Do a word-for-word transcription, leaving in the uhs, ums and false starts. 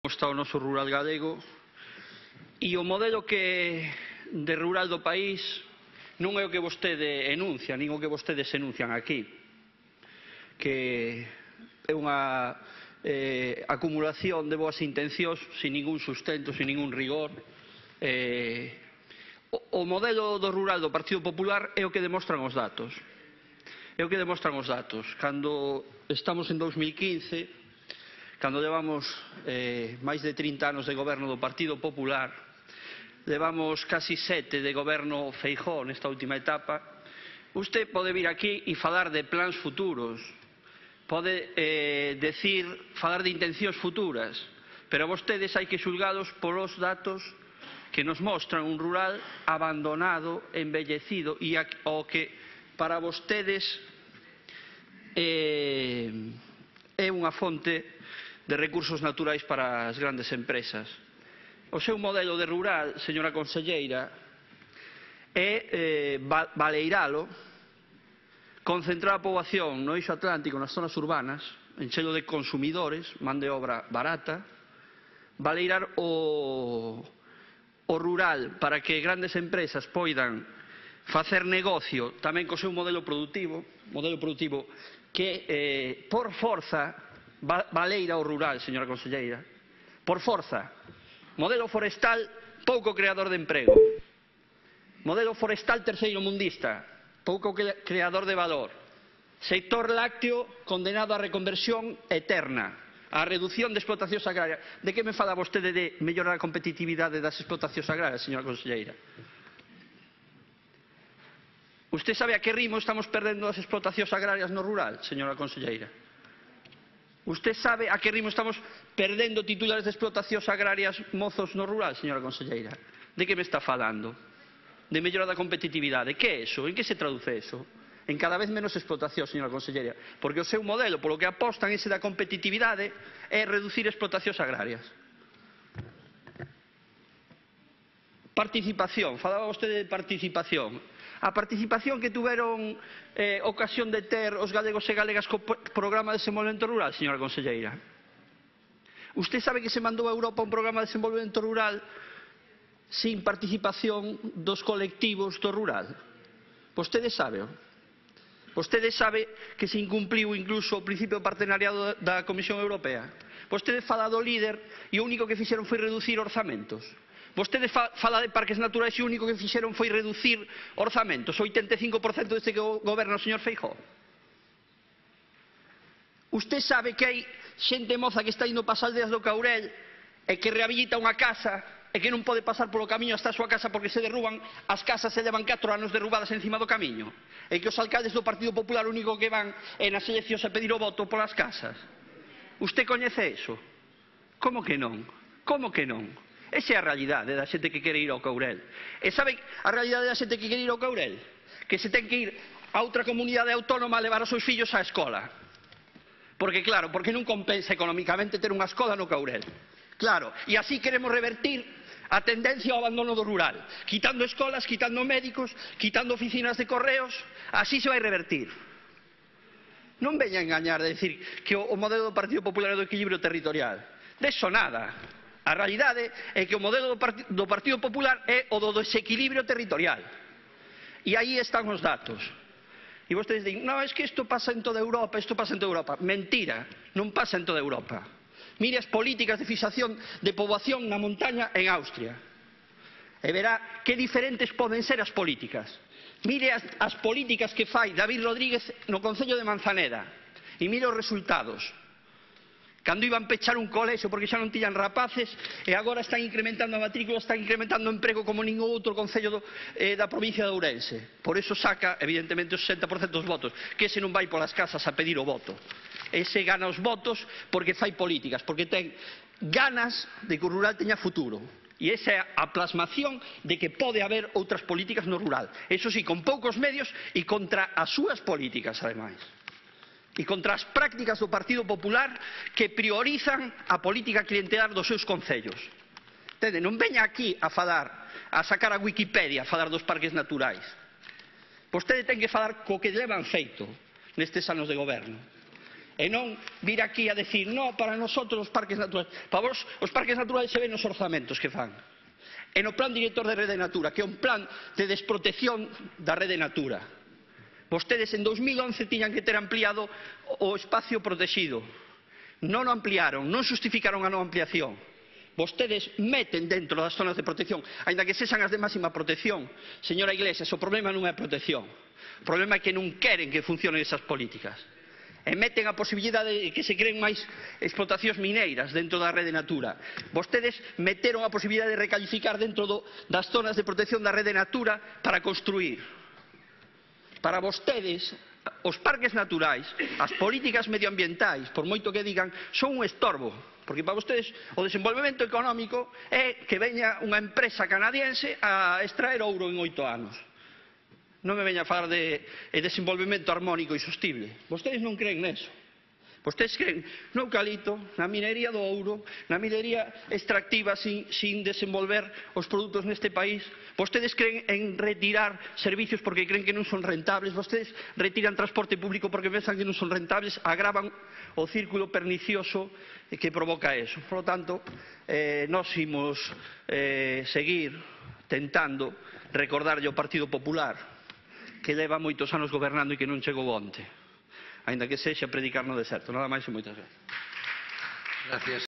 Está o noso rural galego e o modelo que de rural do país non é o que vostede enuncia, nin o que vostedes enuncian aquí, que é unha eh, acumulación de boas intencións sin ningún sustento, sin ningún rigor. eh, o, o modelo do rural do Partido Popular é o que demostran os datos, é o que demostran os datos. Cando estamos en dous mil quince, cando levamos eh, máis de trinta anos de goberno do Partido Popular, levamos casi sete de goberno Feijóo nesta última etapa, usted pode vir aquí e falar de plans futuros, pode eh, decir, falar de intencións futuras, pero a vostedes hai que xulgados polos datos que nos mostran un rural abandonado, embellecido e o que para vostedes eh, é unha fonte de recursos naturais para as grandes empresas. O seu modelo de rural, señora conselleira, é eh, baleiralo, concentrar a poboación no eixo atlántico, nas zonas urbanas, enchelo de consumidores, man de obra barata, baleirar o, o rural para que grandes empresas poidan facer negocio tamén co seu modelo productivo, modelo productivo que eh, por forza baleira o rural, señora conselleira, por forza. Modelo forestal pouco creador de emprego, modelo forestal terceiro mundista, pouco creador de valor, sector lácteo condenado á reconversión eterna, á reducción de explotacións agrarias. De que me fala vostede de mellorar a competitividade das explotacións agrarias, señora conselleira? Usted sabe a que ritmo estamos perdendo as explotacións agrarias no rural, señora conselleira? Usted sabe a que ritmo estamos perdendo titulares de explotacións agrarias mozos no rural, señora conselleira? De que me está falando? De mellora da competitividade. Que é iso? En que se traduce iso? En cada vez menos explotación, señora conselleira. Porque o seu modelo, polo que apostan ese da competitividade, é reducir explotacións agrarias. Participación. Falaba vostede de participación. A participación que tuveron eh, ocasión de ter os galegos e galegas co programa de desenvolvemento rural, señora conselleira. Usted sabe que se mandou a Europa un programa de desenvolvemento rural sin participación dos colectivos do rural? Vostede sabe. Vostede sabe que se incumpliu incluso o principio de partenariado da Comisión Europea. Vostede fala do líder e o único que fixeron foi reducir orzamentos. Vostede fala de parques naturais e o único que fixeron foi reducir orzamentos, o oitenta e cinco por cento deste que goberna o señor Feijóo. Usted sabe que hai xente moza que está indo para as aldeas do Caurel e que rehabilita unha casa e que non pode pasar polo camiño hasta a súa casa porque se derruban as casas e levan catro anos derrubadas encima do camiño, e que os alcaldes do Partido Popular o único que van é nas eleccións a pedir o voto polas casas. Usted coñece iso? Como que non? Como que non? Esa é a realidade da xente que quere ir ao Caurel. E sabe a realidade da xente que quere ir ao Caurel? Que se ten que ir a outra comunidade autónoma a levar os seus fillos á escola. Porque claro, porque non compensa económicamente ter unha escola no Caurel. Claro, e así queremos revertir a tendencia ao abandono do rural, quitando escolas, quitando médicos, quitando oficinas de correos, así se vai revertir. Non veña a engañar de decir que o modelo do Partido Popular é do equilibrio territorial. De eso nada. A realidade é que o modelo do Partido Popular é o do desequilibrio territorial. E aí están os datos. E vostedes din, non, é que isto pasa en toda Europa, isto pasa en toda Europa. Mentira, non pasa en toda Europa. Mire as políticas de fixación de poboación na montaña en Austria. E verá que diferentes poden ser as políticas. Mire as, as políticas que fai David Rodríguez no Concello de Manzaneda. E mire os resultados. Cando iban pechar un colexio porque xa non tiñan rapaces e agora están incrementando a matrícula, están incrementando o emprego como ningún outro concello do, eh, da provincia de Ourense. Por eso saca, evidentemente, o sesenta por cento dos votos, que ese non vai polas casas a pedir o voto. Ese gana os votos porque fai políticas, porque ten ganas de que o rural teña futuro. E esa é a plasmación de que pode haber outras políticas no rural. Eso sí, con poucos medios e contra as súas políticas, ademais. E contra as prácticas do Partido Popular que priorizan a política clientelar dos seus concellos. Entende? Non veña aquí a falar, a sacar a Wikipedia, a falar dos parques naturais. Vostede ten que falar co que levan feito nestes anos de goberno. E non vir aquí a decir, no, para nosotros os parques naturales. Para vos, os parques naturales se ven nos orzamentos que fan. E no plan director de Rede Natura, que é un plan de desprotección da Rede Natura. Vostedes en dos mil once tiñan que ter ampliado o espacio protegido. Non o ampliaron, non justificaron a non ampliación. Vostedes meten dentro das zonas de protección, aínda que sexan as de máxima protección. Señora Iglesias, o problema non é a protección. O problema é que non queren que funcionen esas políticas. E meten a posibilidade de que se creen máis explotacións mineiras dentro da Rede Natura. Vostedes meteron a posibilidade de recalificar dentro do, das zonas de protección da Rede Natura para construir. Para vostedes, os parques naturais, as políticas medioambientais, por moito que digan, son un estorbo. Porque para vostedes o desenvolvemento económico é que veña unha empresa canadiense a extraer ouro en oito anos. Non me veña a falar de desenvolvemento armónico e sostible. Vostedes non creen neso. Vostedes creen no eucalipto, na minería do ouro, na minería extractiva sin, sin desenvolver os produtos neste país. Vostedes creen en retirar servicios porque creen que non son rentables. Vostedes retiran transporte público porque pensan que non son rentables. Agravan o círculo pernicioso que provoca eso. Por lo tanto, eh, nós imos eh, seguir tentando recordarlle ao Partido Popular que leva moitos anos gobernando e que non chegou onte, aínda que sexa predicar no deserto. Nada máis e moitas gracias.